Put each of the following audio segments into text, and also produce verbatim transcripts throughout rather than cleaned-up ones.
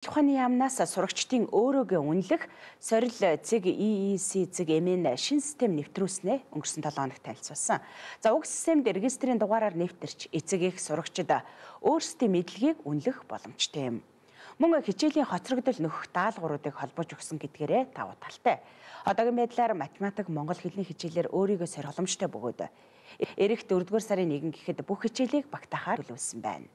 Ухааны яамнаас сурагчдын өөрөөгөө үнэлэх сорил цэг и и си цэг эмэн шин систем нэвтрүүлснээ өнгөрсөн долоо хоногт танилцуулсан. За уг системд регистрийн дугаараар нэвтэрч эцэг их сурагчид өөрсдийн мэдлэгийг үнэлэх боломжтой юм. Мөн хичээлийн хоцрогдол нөхөх даалгавруудыг холбож өгсөн гэдгээрээ давуу талтай. Одоогийн байдлаар математик, монгол хэлний хичээлээр өөрийгөө сориломжтой бөгөөд эрэх дөрөвдүгээр сарын нэгэн гэхэд бүх хичээлийг багтаахаар төлөвлөсөн байна.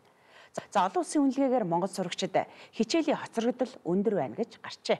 За олон улсын үнэлгээгээр монгол сурагчид хичээлийн хоцрогдол өндөр байна гэж гарчээ.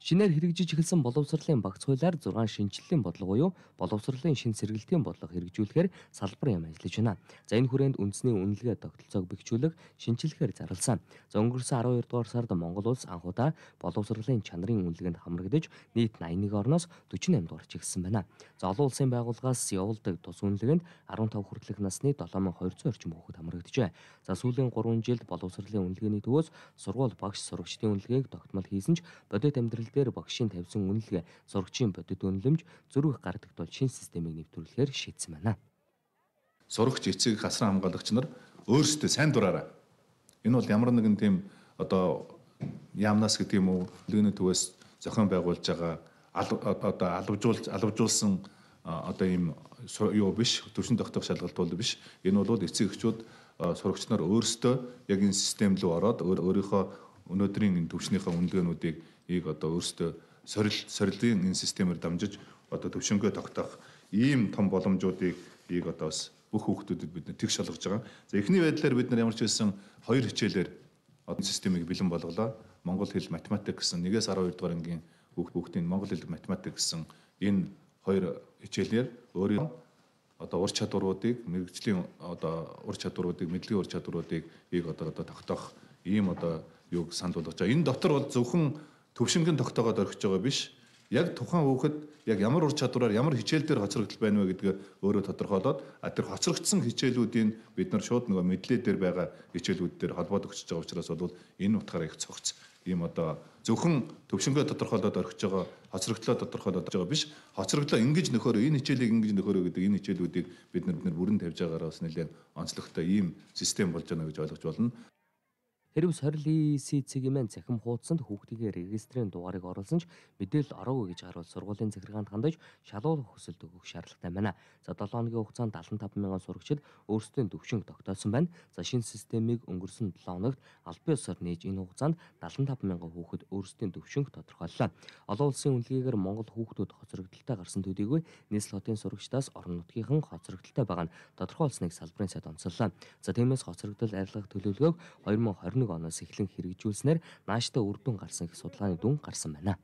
Шинээр хэрэгжиж эхэлсэн боловсролын багц хуулиар зургаан шинжиллийн бодлого буюу боловсролын шин сэргэлтийн бодлого хэрэгжүүлэхээр салбар яам ажиллаж байна. За энэ хүрээнд үндэсний үнэлгээ тогтолцоог бэхжүүлэх, шинжилгэхээр зарласан. За өнгөрсөн арван хоёр дугаар сард Монгол улс анхудаа боловсролын чанарын үнэлгээнд хамрагдаж нийт найман нэг орноос дөрвөн наймд орж ирсэн байна. За олон улсын байгууллагаас явуулдаг тус үнэлгээнд арван тав хүртэлх насны долоон мянга хоёр цус орчим хүүхэд хамрагджээ. За сүүлийн гурван жилд боловсролын үнэлгээний төвөөс сургууль багш сурагчдын үнэлгээг тогтмол хийсэн ч бодит амьдрал дээр багшийн тавьсан үнэлгээ, сурагчийн бодит үнэлэмж зөрөх гардаг тул шинэ системийг нэвтрүүлэхээр шийдсэн байна. Сурагч, эцэг, хасран хамгаалагч нар өөрсдөө сайн дураараа. Энэ бол ямар нэгэн тийм одоо яамнаас гэдэг юм уу, үнэлгээний төвөөс зохион байгуулж байгаа одоо албажуулж албажуулсан одоо ийм юу биш, төвшин тогтоох шалгалт бол биш. Энэ бол эцэг эхчүүд сурагч нар өөрсдөө яг энэ систем рүү ороод өөрийнхөө өнөөдрийн энэ төвшнийхээ үнэлгээнүүдийг ийг одоо өөрсдөө сорил сорилын энэ системээр дамжиж одоо төвшөнгөө тогтоох ийм том боломжуудыг ийг одоо бас бүх хүүхдүүдэд бид тэгш шалгаж байгаа. За эхний байдлаар бид нар ямар ч байсан хоёр хичээлээр одоо системийг бэлэн болголоо. Монгол хэл, математик гэсэн нэгээс арван хоёр дугаар ангийн хүүхдийн монгол хэл, математик гэсэн энэ хоёр хичээлээр өөрийн одоо ур чадваруудыг, мэрэгжлийн одоо ур чадваруудыг, мэдлэгийн ур чадваруудыг ийг одоо одоо тогтоох ийм одоо юуг санд болгож байгаа. Энэ дотор бол зөвхөн төвшингийн тогтоогоод орхиж байгаа биш. Яг тухайн хүүхэд яг ямар ур чадвараар ямар хичээл дээр хоцрогдол байна вэ гэдгээ өөрөө тодорхойлоод тэр хоцрогдсон хичээлүүдийн бид нар шууд нөгөө мэдлээ дээр байгаа хичээлүүд дээр холбоод өгч байгаа учраас бол энэ утгаараа их цогц ийм одоо зөвхөн төвшингөө тодорхойлоод орхиж байгаа хоцрогдлоо тодорхойлоод байгаа биш. Хоцрогдлоо ингэж нөхөөрөө энэ хичээлийг ингэж нөхөөрөө гэдэг энэ хичээлүүдийг бид нар бид нар бүрэн тавьж байгаараас нэлээд онцлогтой ийм систем болж байна гэж ойлгож болно. Хэрв сорил и и си цэг эмэн цахим хуудсанд хүүхдийн регистрийн дугаарыг оруулсан ч мэдээлэл ороогүй гэж харуул сургуулийн захиргаанд хандаж шалгуулах хүсэлт өгөх шаардлагатай байна. За долоон хоногийн хугацаанд далайн тав мянган сурагчид өөрсдийн төвшинг тогтоосон байна. За шинэ системийг өнгөрсөн долоо хоногт албан ёсоор нээж энэ хугацаанд далайн тав мянган хүүхэд өөрсдийн төвшинг тодорхойллоо. Олон улсын үнэлгээгээр Монгол хүүхдүүд хоцрогдолтой гарсан төдийгүй нийслэл хотын сурагчдаас орон нутгийнхан хоцрогдолтой байгаа нь тодорхойлсныг салбарын сайд онцоллоо. За тиймээс хоцрогдол арилгах төлөвлөгөөг хоёр мың хорин оноос эхлэн хэрэгжүүлснээр нааштай үр дүн гарсан их судалгааны дүн гарсан байна.